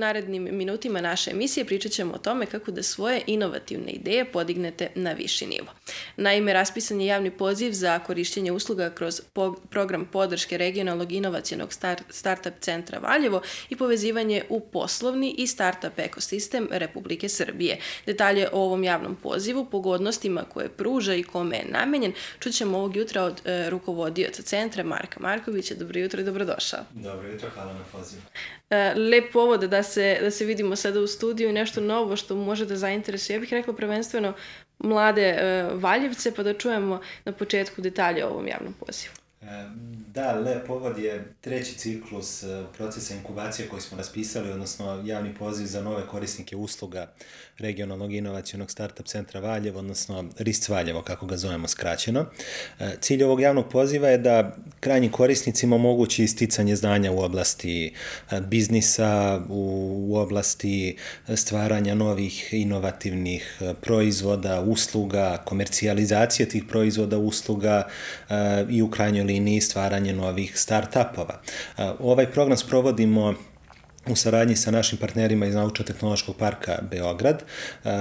narednim minutima naše emisije pričat ćemo o tome kako da svoje inovativne ideje podignete na viši nivo. Naime, raspisan je javni poziv za korišćenje usluga kroz program podrške regionalnog inovacionog startup centra Valjevo i povezivanje u poslovni i startup ekosistem Republike Srbije. Detalje o ovom javnom pozivu, pogodnostima koje pruža i kome je namenjen, čućemo ovog jutra od rukovodioca centra Marka Markovića. Dobro jutro i dobrodošao. Dobro jutro, hvala na pozivu. Lep povod da se vidimo sada u studiju i nešto novo što može da zainteresuje. Ja bih rekla prvenstveno mlade Valjevce, pa da čujemo na početku detalje o ovom javnom pozivu. Da, lep povod je treći ciklus procesa inkubacije koji smo raspisali, odnosno javni poziv za nove korisnike usluga regionalnog inovacionog startup centra Valjevo, odnosno RISC Valjevo, kako ga zovemo skraćeno. Cilj ovog javnog poziva je da krajnjim korisnicima omogući isticanje znanja u oblasti biznisa, u oblasti stvaranja novih inovativnih proizvoda, usluga, komercijalizacije tih proizvoda, usluga i u krajnjoj liniji stvaranje novih start-upova. Ovaj program sprovodimo u saradnji sa našim partnerima iz Naučno-tehnološkog parka Beograd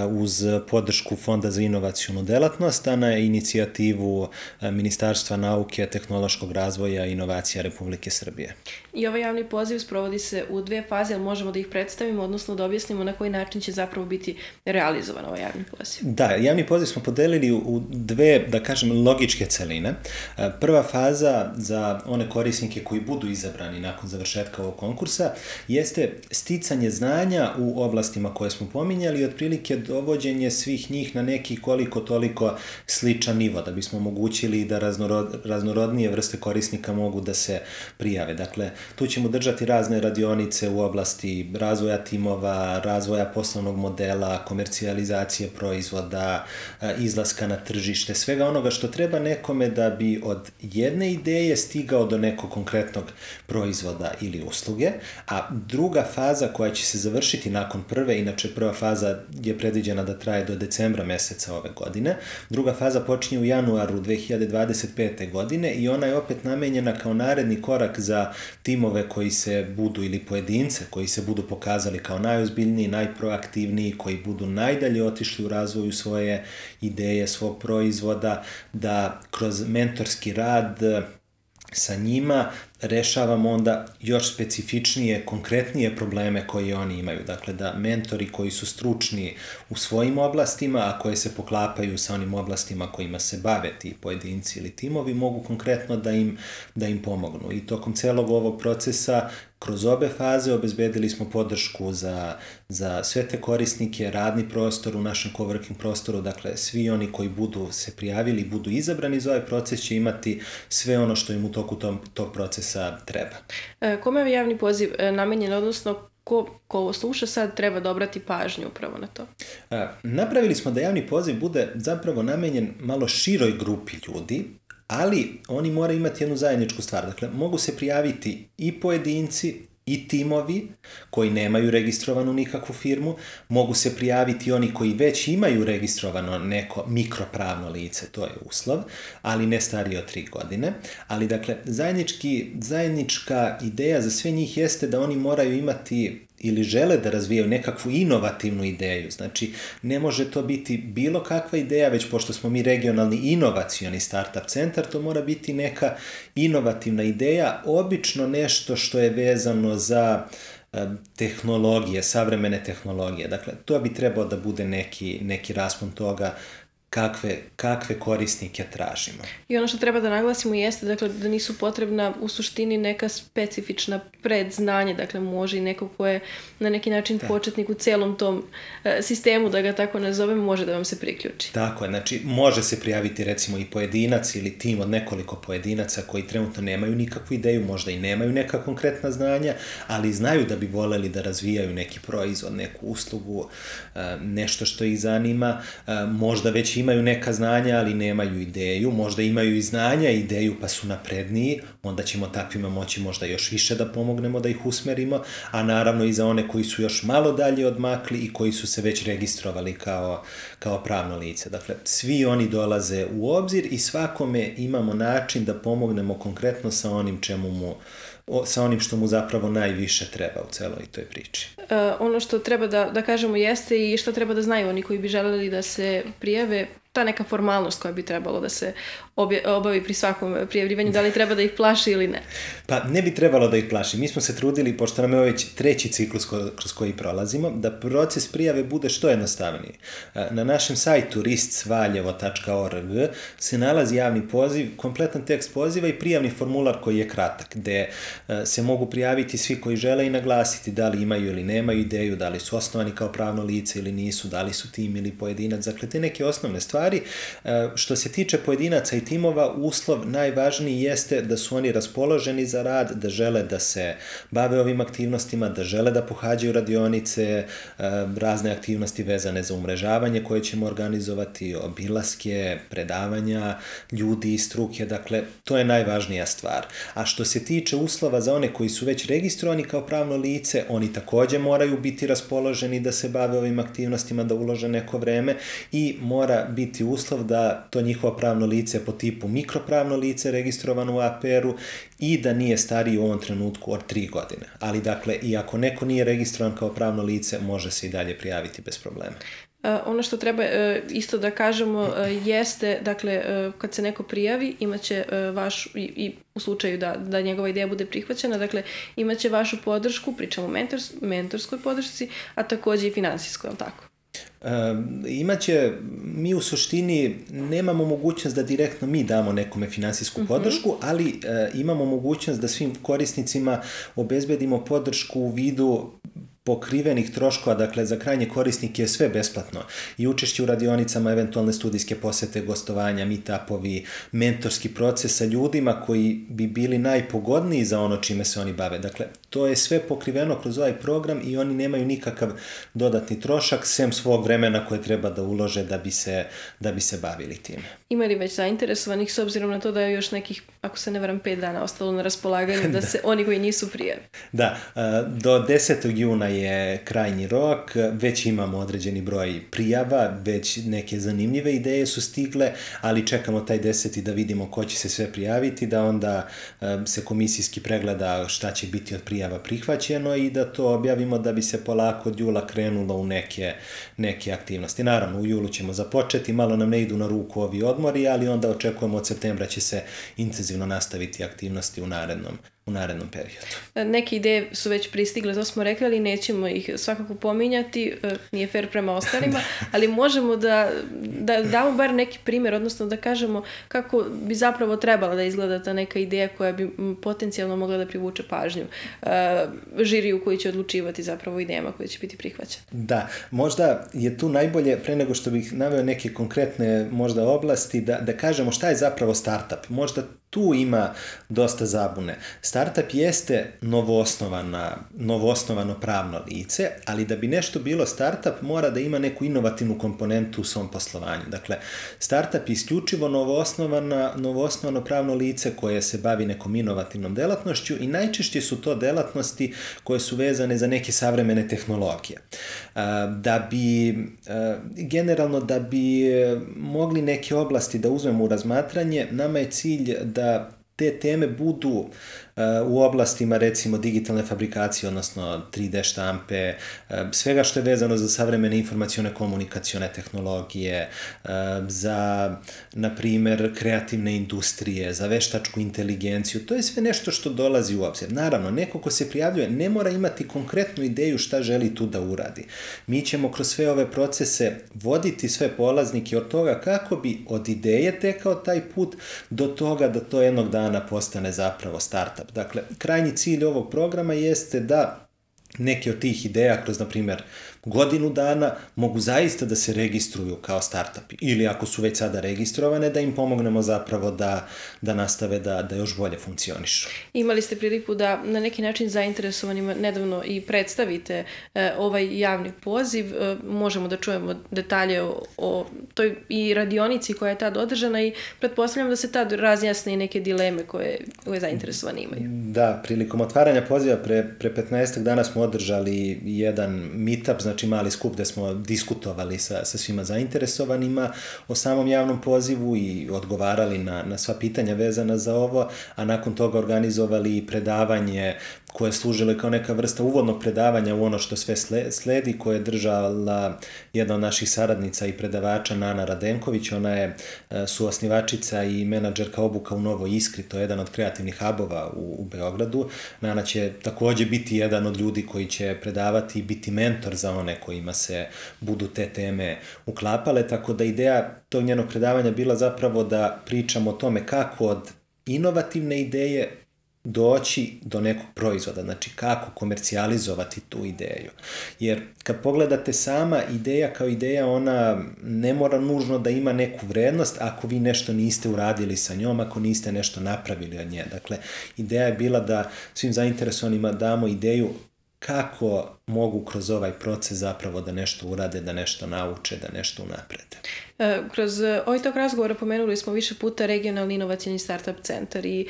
uz podršku Fonda za inovacionu delatnost, a na inicijativu Ministarstva nauke, tehnološkog razvoja i inovacija Republike Srbije. I ovaj javni poziv sprovodi se u dve faze, ali možemo da ih predstavimo, odnosno da objasnimo na koji način će zapravo biti realizovan ovaj javni poziv. Da, javni poziv smo podelili u dve, da kažem, logičke celine. Prva faza za one korisnike koji budu izabrani nakon završetka ovog konkursa jeste sticanje znanja u oblastima koje smo pominjali i otprilike dovođenje svih njih na neki koliko toliko sličan nivo, da bismo omogućili da raznorodnije vrste korisnika mogu da se prijave. Dakle, tu ćemo držati razne radionice u oblasti razvoja timova, razvoja poslovnog modela, komercijalizacije proizvoda, izlaska na tržište, svega onoga što treba nekome da bi od jedne ideje stigao do nekog konkretnog proizvoda ili usluge, a druga faza koja će se završiti nakon prve, inače prva faza je predviđena da traje do decembra meseca ove godine, druga faza počinje u januaru 2025. godine i ona je opet namenjena kao naredni korak za timove koji se budu, ili pojedince koji se budu pokazali kao najozbiljniji, najproaktivniji, koji budu najdalje otišli u razvoju svoje ideje, svog proizvoda, da kroz mentorski rad sa njima rešavamo onda još specifičnije, konkretnije probleme koje oni imaju. Dakle, da mentori koji su stručni u svojim oblastima, a koje se poklapaju sa onim oblastima kojima se bave ti pojedinci ili timovi, mogu konkretno da im pomognu. I tokom celog ovog procesa, kroz obe faze, obezbedili smo podršku za sve te korisnike, radni prostor u našem coworking prostoru, dakle, svi oni koji budu se prijavili, budu izabrani za ovaj proces će imati sve ono što im u toku tog procesa treba. Kome je javni poziv namenjen, odnosno ko ovo sluša sad treba da obrati pažnju upravo na to? Napravili smo da javni poziv bude zapravo namenjen malo široj grupi ljudi, ali oni moraju imati jednu zajedničku stvar. Dakle, mogu se prijaviti i pojedinci i timovi koji nemaju registrovanu nikakvu firmu, mogu se prijaviti oni koji već imaju registrovano neko mikropravno lice, to je uslov, ali ne stariji od 3 godine. Ali, dakle, zajednička ideja za sve njih jeste da oni moraju imati ili žele da razvijaju nekakvu inovativnu ideju. Znači, ne može to biti bilo kakva ideja, već pošto smo mi regionalni inovacioni startup centar, to mora biti neka inovativna ideja, obično nešto što je vezano za tehnologije, savremene tehnologije. Dakle, to bi trebao da bude neki raspon toga kakve korisnike tražimo. I ono što treba da naglasimo jeste, dakle, da nisu potrebna u suštini neka specifična predznanja, dakle može i neko ko je na neki način početnik u celom tom sistemu, da ga tako nazovem, može da vam se priključi. Tako je, znači može se prijaviti recimo i pojedinac ili tim od nekoliko pojedinaca koji trenutno nemaju nikakvu ideju, možda i nemaju neka konkretna znanja, ali znaju da bi voleli da razvijaju neki proizvod, neku uslugu, nešto što ih zanima, možda već imaju neka znanja, ali nemaju ideju, možda imaju i znanja i ideju pa su napredniji, onda ćemo takvima moći možda još više da pomognemo, da ih usmerimo, a naravno i za one koji su još malo dalje odmakli i koji su se već registrovali kao pravno lice. Dakle, svi oni dolaze u obzir i svakome imamo način da pomognemo konkretno sa onim čemu mu sa onim što mu zapravo najviše treba u celoj toj priči. Ono što treba da kažemo jeste i što treba da znaju oni koji bi želeli da se prijave, ta neka formalnost koja bi trebalo da se obavi pri svakom prijavljivanju, da li treba da ih plaši ili ne? Pa ne bi trebalo da ih plaši. Mi smo se trudili, pošto nam je ovo već treći ciklus kroz koji prolazimo, da proces prijave bude što jednostavniji. Na našem sajtu riscvaljevo.org se nalazi javni poziv, kompletan tekst poziva i prijavni formular koji je kratak, gde se mogu prijaviti svi koji žele i naglasiti da li imaju ili nemaju ideju, da li su osnovani kao pravno lice ili nisu, da li su tim ili pojedinac. Dakle, te neke osnovne stvari. Što se tiče pojedinaca i timova, uslov najvažniji jeste da su oni raspoloženi za rad, da žele da se bave ovim aktivnostima, da žele da pohađaju radionice, razne aktivnosti vezane za umrežavanje koje ćemo organizovati, obilaske, predavanja, ljudi iz struke, dakle, to je najvažnija stvar. A što se tiče uslova za one koji su već registrovani kao pravno lice, oni takođe moraju biti raspoloženi da se bave ovim aktivnostima, da ulože neko vreme i mora biti uslov da to njihovo pravno lice po tipu mikropravno lice registrovano u APR-u i da nije stariji u ovom trenutku od 3 godine. Ali dakle, i ako neko nije registrovan kao pravno lice, može se i dalje prijaviti bez problema. Ono što treba isto da kažemo jeste, dakle, kad se neko prijavi, imaće vašu, i u slučaju da njegova ideja bude prihvaćena, dakle, imaće vašu podršku, pričamo o mentorskoj podršci, a takođe i finansijskoj, je li tako? Imaće, mi u suštini nemamo mogućnost da direktno mi damo nekome finansijsku podršku, ali imamo mogućnost da svim korisnicima obezbedimo podršku u vidu pokrivenih troškova, dakle za krajnje korisnike je sve besplatno i učešće u radionicama, eventualne studijske posete, gostovanja, meetupovi, mentorski proces sa ljudima koji bi bili najpogodniji za ono čime se oni bave. Dakle, to je sve pokriveno kroz ovaj program i oni nemaju nikakav dodatni trošak, sem svog vremena koje treba da ulože da bi se bavili time. Ima li već zainteresovanih, s obzirom na to da je još nekih, ako se ne varam, 5 dana ostalo na raspolaganju, da se oni koji nisu prijavi? Da, do 10. juna je krajnji rok, već imamo određeni broj prijava, već neke zanimljive ideje su stigle, ali čekamo taj 10. da vidimo ko će se sve prijaviti, da onda se komisijski pregleda šta će biti od prijava prihvaćeno i da to objavimo da bi se polako od jula krenulo u neke aktivnosti. Naravno, u julu ćemo započeti, malo nam ne idu na ruku ovi odmori, ali onda očekujemo od septembra će se intenzivno nastaviti aktivnosti u narednom periodu. Neke ideje su već pristigle, to smo rekli, ali nećemo ih svakako pominjati, nije fair prema ostalima, ali možemo da damo bar neki primjer, odnosno da kažemo kako bi zapravo trebala da izgleda ta neka ideja koja bi potencijalno mogla da privuče pažnju žiriju koji će odlučivati zapravo idejama koje će biti prihvaćene. Da, možda je tu najbolje, pre nego što bih naveo neke konkretne možda oblasti, da kažemo šta je zapravo startup. Možda tu ima dosta zabune. Startup jeste novoosnovano pravno lice, ali da bi nešto bilo startup mora da ima neku inovativnu komponentu u svom poslovanju. Dakle, startup je isključivo novoosnovano pravno lice koje se bavi nekom inovativnom delatnošću i najčešće su to delatnosti koje su vezane za neke savremene tehnologije. Generalno, da bi mogli neke oblasti da uzmemo u razmatranje, nama je cilj da te teme budu u oblastima recimo digitalne fabrikacije, odnosno 3D štampe, svega što je vezano za savremene informacione komunikacione tehnologije, za, na primer, kreativne industrije, za veštačku inteligenciju. To je sve nešto što dolazi u obzir. Naravno, neko ko se prijavljuje ne mora imati konkretnu ideju šta želi tu da uradi. Mi ćemo kroz sve ove procese voditi sve polaznike od toga kako bi od ideje tekao taj put do toga da to jednog dana postane zapravo startup. Dakle, krajnji cilj ovog programa jeste da neke od tih ideja kroz, na primjer, godinu dana mogu zaista da se registruju kao startupi ili ako su već sada registrovane da im pomognemo zapravo da nastave da još bolje funkcionišu. Imali ste priliku da na neki način zainteresovanima nedavno i predstavite ovaj javni poziv. Možemo da čujemo detalje o toj i radionici koja je tad održana i pretpostavljam da se tad razjasne i neke dileme koje zainteresovani imaju. Da, prilikom otvaranja poziva pre 15 dana smo održali jedan meetup, znači mali skup gde smo diskutovali sa svima zainteresovanima o samom javnom pozivu i odgovarali na sva pitanja vezana za ovo, a nakon toga organizovali i predavanje koje je služilo kao neka vrsta uvodnog predavanja u ono što sve sledi, koje je držala jedna od naših saradnica i predavača Nana Radenković. Ona je suosnivačica i menadžerka obuka u Novoj Iskri, to je jedan od kreativnih hubova u Beogradu. Nana će takođe biti jedan od ljudi koji će predavati i biti mentor za one kojima se budu te teme uklapale, tako da ideja tog njenog predavanja bila zapravo da pričamo o tome kako od inovativne ideje doći do nekog proizvoda, znači kako komercijalizovati tu ideju. Jer kad pogledate, sama ideja kao ideja, ona ne mora nužno da ima neku vrednost ako vi nešto niste uradili sa njom, ako niste nešto napravili od nje. Dakle, ideja je bila da svim zainteresovanima damo ideju kako mogu kroz ovaj proces zapravo da nešto urade, da nešto nauče, da nešto unaprede. Kroz ovaj tog razgovora pomenuli smo više puta regionalni inovacijni startup centar i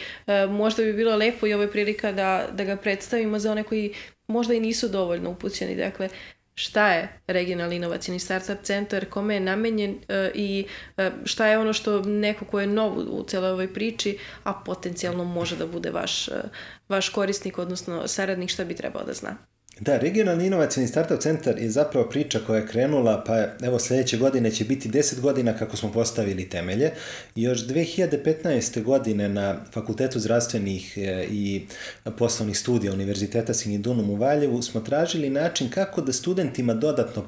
možda bi bilo lepo i ovo je prilika da ga predstavimo za one koji možda i nisu dovoljno upućeni. Dakle, šta je regionalni inovacijni startup centar, kome je namenjen i šta je ono što neko ko je nov u celoj ovoj priči, a potencijalno može da bude vaš korisnik, odnosno saradnik, šta bi trebao da zna? Da, regionalni inovacijni startup centar je zapravo priča koja je krenula, pa evo sledeće godine će biti 10 godina kako smo postavili temelje. Još 2015. godine na Fakultetu zdravstvenih i poslovnih studija Univerziteta Singidunum u Valjevu smo tražili način kako da studentima dodatno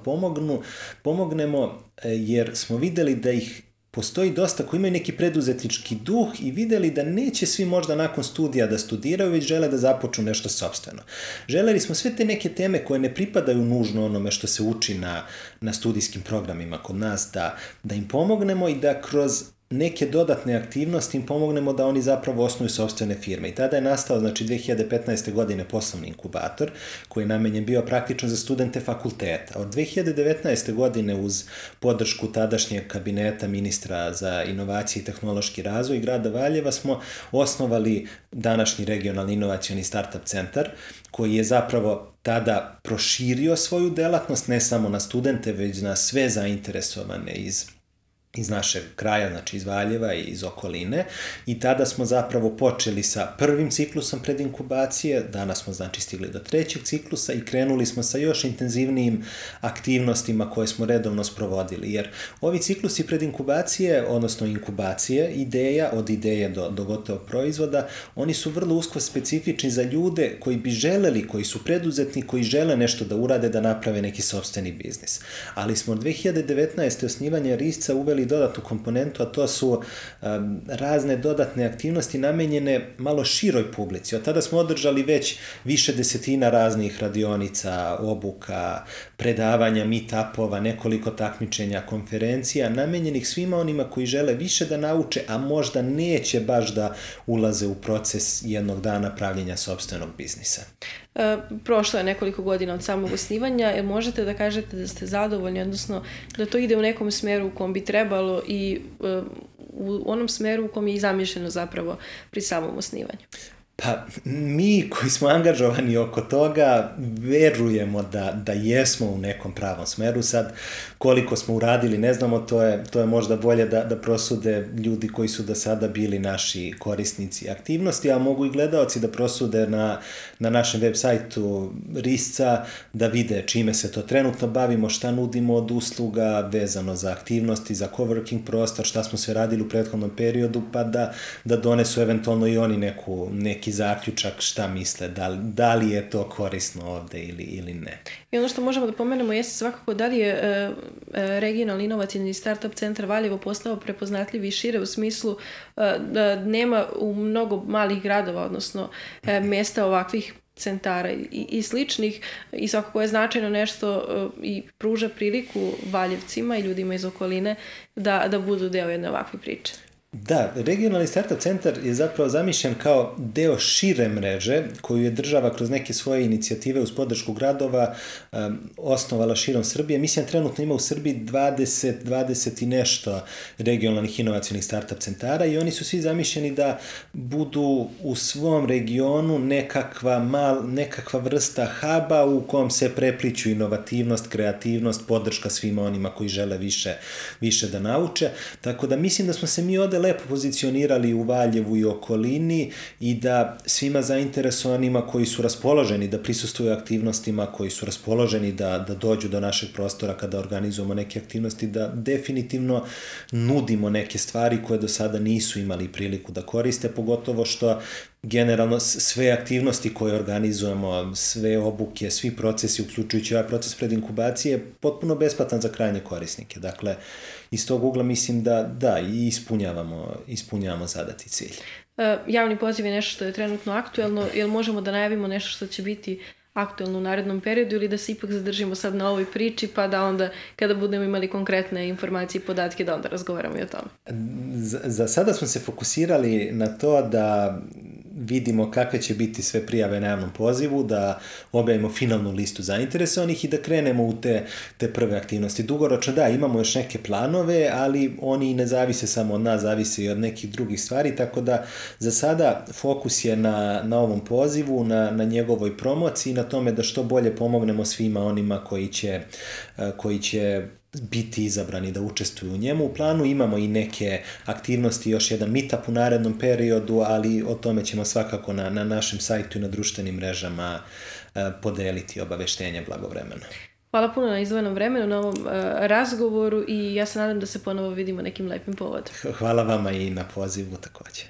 pomognemo, jer smo videli da ih postoji dosta koji imaju neki preduzetnički duh i videli da neće svi možda nakon studija da studiraju, već žele da započnu nešto sopstveno. Želeli smo sve te neke teme koje ne pripadaju nužno onome što se uči na studijskim programima kod nas, da im pomognemo i da kroz neke dodatne aktivnosti im pomognemo da oni zapravo osnuju sopstvene firme. I tada je nastao, znači 2015. godine poslovni inkubator, koji je namenjen bio praktično za studente fakulteta. Od 2019. godine uz podršku tadašnjeg kabineta ministra za inovacije i tehnološki razvoj grada Valjeva smo osnovali današnji regionalni inovacioni startup centar, koji je zapravo tada proširio svoju delatnost ne samo na studente, već na sve zainteresovane iz našeg kraja, znači iz Valjeva i iz okoline, i tada smo zapravo počeli sa prvim ciklusom predinkubacije, danas smo znači stigli do trećeg ciklusa i krenuli smo sa još intenzivnijim aktivnostima koje smo redovno sprovodili, jer ovi ciklusi predinkubacije, odnosno inkubacije, od ideje do gotovog proizvoda, oni su vrlo usko specifični za ljude koji bi želeli, koji su preduzetni, koji žele nešto da urade, da naprave neki sopstveni biznis. Ali smo od 2019. osnivanja RISC-a uveli dodatnu komponentu, a to su razne dodatne aktivnosti namenjene malo široj publici. Od tada smo održali već više desetina raznih radionica, obuka, predavanja, meet-upova, nekoliko takmičenja, konferencija, namenjenih svima onima koji žele više da nauče, a možda neće baš da ulaze u proces jednog dana pravljenja sopstvenog biznisa. Prošlo je nekoliko godina od samog osnivanja. Možete da kažete da ste zadovoljni, odnosno da to ide u nekom smeru u kom bi trebalo i u onom smeru u kom je i zamišljeno zapravo pri samom osnivanju? Pa mi koji smo angažovani oko toga verujemo da jesmo u nekom pravom smeru. Sad koliko smo uradili ne znamo, to je možda bolje da prosude ljudi koji su do sada bili naši korisnici aktivnosti, a mogu i gledaoci da prosude na našem web sajtu RISC-a da vide čime se to trenutno bavimo, šta nudimo od usluga vezano za aktivnosti, za coworking prostor, šta smo sve radili u prethodnom periodu, pa da donesu eventualno i oni neki zaključak šta misle, da li je to korisno ovde ili ne. I ono što možemo da pomenemo jeste svakako da li je regionalni inovacijni startup centar Valjevo postao prepoznatljiv i šire u smislu da nema u mnogo malih gradova, odnosno mesta ovakvih centara i sličnih, i svakako je značajno nešto i pruža priliku Valjevcima i ljudima iz okoline da budu deo jedne ovakve priče. Da, regionalni startup centar je zapravo zamišljen kao deo šire mreže koju je država kroz neke svoje inicijative uz podršku gradova osnovala širom Srbije. Mislim, trenutno ima u Srbiji 20 i nešto regionalnih inovacijnih startup centara i oni su svi zamišljeni da budu u svom regionu nekakva vrsta huba u kom se prepliću inovativnost, kreativnost, podrška svima onima koji žele više da nauče. Tako da mislim da smo se mi ovde lepo pozicionirali u Valjevu i okolini i da svima zainteresovanima koji su raspoloženi da prisustvuju aktivnostima, koji su raspoloženi da dođu do našeg prostora kada organizujemo neke aktivnosti, da definitivno nudimo neke stvari koje do sada nisu imali priliku da koriste, pogotovo što generalno sve aktivnosti koje organizujemo, sve obuke, svi procesi, uključujući ovaj proces predinkubacije, je potpuno besplatan za krajnje korisnike. Dakle, iz tog ugla mislim da i ispunjavamo zadati cilj. Javni poziv je nešto što je trenutno aktuelno, jel možemo da najavimo nešto što će biti aktuelno u narednom periodu ili da se ipak zadržimo sad na ovoj priči pa da onda kada budemo imali konkretne informacije i podatke da onda razgovaramo i o tome? Za sada smo se fokusirali na to da vidimo kakve će biti sve prijave na javnom pozivu, da objavimo finalnu listu zainteresovanih i da krenemo u te prve aktivnosti. Dugoročno da, imamo još neke planove, ali oni ne zavise samo od nas, zavise i od nekih drugih stvari, tako da za sada fokus je na ovom pozivu, na njegovoj promociji, na tome da što bolje pomognemo svima onima koji će biti izabrani da učestvuju u njemu. U planu imamo i neke aktivnosti, još jedan meetup u narednom periodu, ali o tome ćemo svakako na našem sajtu i na društvenim mrežama podeliti obaveštenje blagovremeno. Hvala puno na izdvojenom vremenu, na ovom razgovoru i ja se nadam da se ponovo vidimo nekim lepim povodom. Hvala vama i na pozivu takođe.